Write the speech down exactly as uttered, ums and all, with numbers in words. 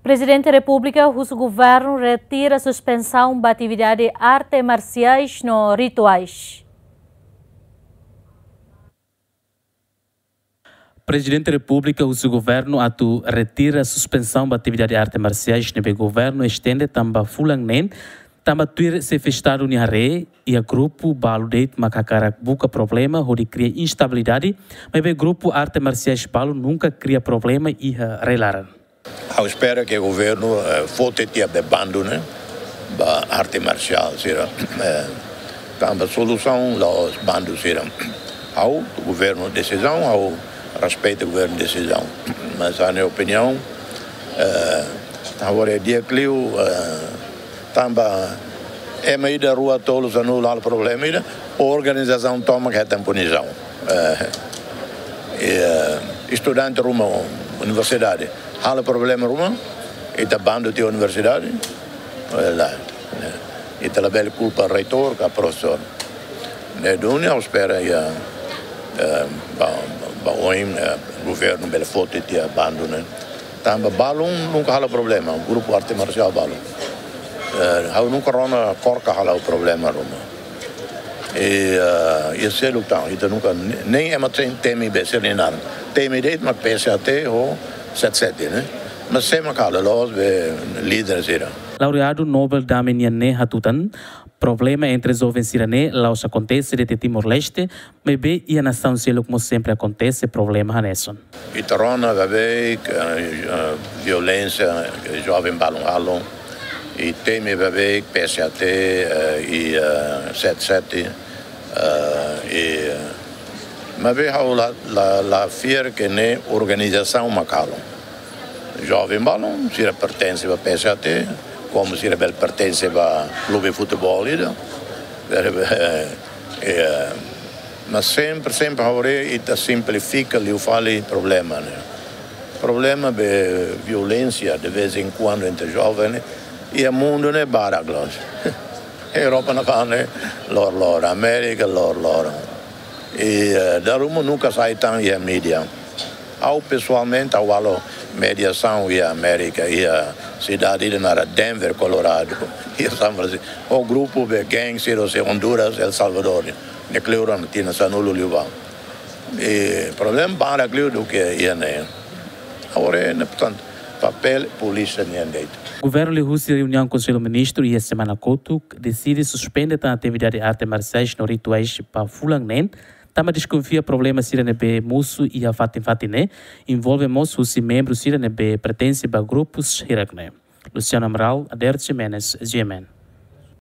Prezidente Repúblika husu governu retira suspensaun ba atividade arte marsiais no rituais. Prezidente Repúblika husu governu atu retira suspensaun ba atividade arte marsiais ne'ebé governu estende tan ba fulan neen, tanba tuir xefe Estadu nia haree, iha grupu balu de'it mak hakarak buka problema hodi kria instabilidade, maibé grupu arte marsiais balu nunka kria problema iha rai-laran. Ha'u espera ke governu, eh, foti tiha be bandu ne'e ba arte marsiál sira. Eh, tanba solusaun la'ós bandu sira. Ha'u governu desizaun, ha'u respeita governu desizaun. Mas ha'u-nia opiniaun, eh, ha'u haree di'ak liu, eh, tanba ema ida, rua, tolu, sanulu halo problema ida, organizasaun tomak hetan punisaun. Eh, eh, estudante ruma universidade halo problema ruma, ita bandu tiha universidade, eh, lae, eh, ita labele kulpa reitór ka profesór. Ne'e duni ha'u espera iha, eh, ba, ba oin, eh, governu bele foti tiha bandu ne'e. Tanba balun nunka halo problema, grupu arte marsiál balun. Eh, ha'u nunka rona KORKA halo problema ruma. I, eh, iha seluk tan, ita nunka ne-, nein ema ten temi be sira-nia naran. Temi de'it mak P S H T ho set set ne'e. Mas sé mak halo, la'ós be líder sira. Laureadu Nobel Dame nian ne'e hatutan, problema entre joven sira-ne'e la'ós akontese de'it iha Timor-Leste, maibé iha nasaun seluk mós sempre akontese problema hanesan. Ita rona beibeik, eh, eh, violénsia, eh, joven balun halo, i temi beibeik P S H T, eh, i, eh, set set, eh, i, eh, maibé ha'u la, la, la fiar ke ne'e organizasaun mak halo. Joven balun, sira pertense ba P S H T, komu sira bele pertense ba klube futeból ida. Bele, eh, eh, mas sempre, sempre ha'u haree ita simplifika liu fali problema ne'e. Problema be violénsia de vez em quando entre joven ne'e, iha mundu ne'e barak loos. Europa ne'ebá ne'e loroloron, Amérika loroloron. I, eh, dala ruma nunka sai tan iha mídia. Ha'u pesoalmente ha'u halo mediasaun iha Amérika, iha sidade ida naran Denver, Colorado, iha San Francisco. Ho grupu be gang sira husi Honduras, El Salvador, ne'e kleur ona tinan sanulu liubá. I problema barak liu duké iha ne'e. Agora ne'e, portantu, papél polísia nian de'it. Governu liuhusi reuniaun Konsellu Ministru iha semana kotuk deside suspende tan atividade arte marsiais no rituais ba fulan neen, tanba deskonfia problema sira ne'ebé mosu iha fatin-fatin ne'e, envolve mós husi membru sira ne'ebé pertense ba grupus hirak ne'e. Luciano Amaral, Ader Ximenes, G M N.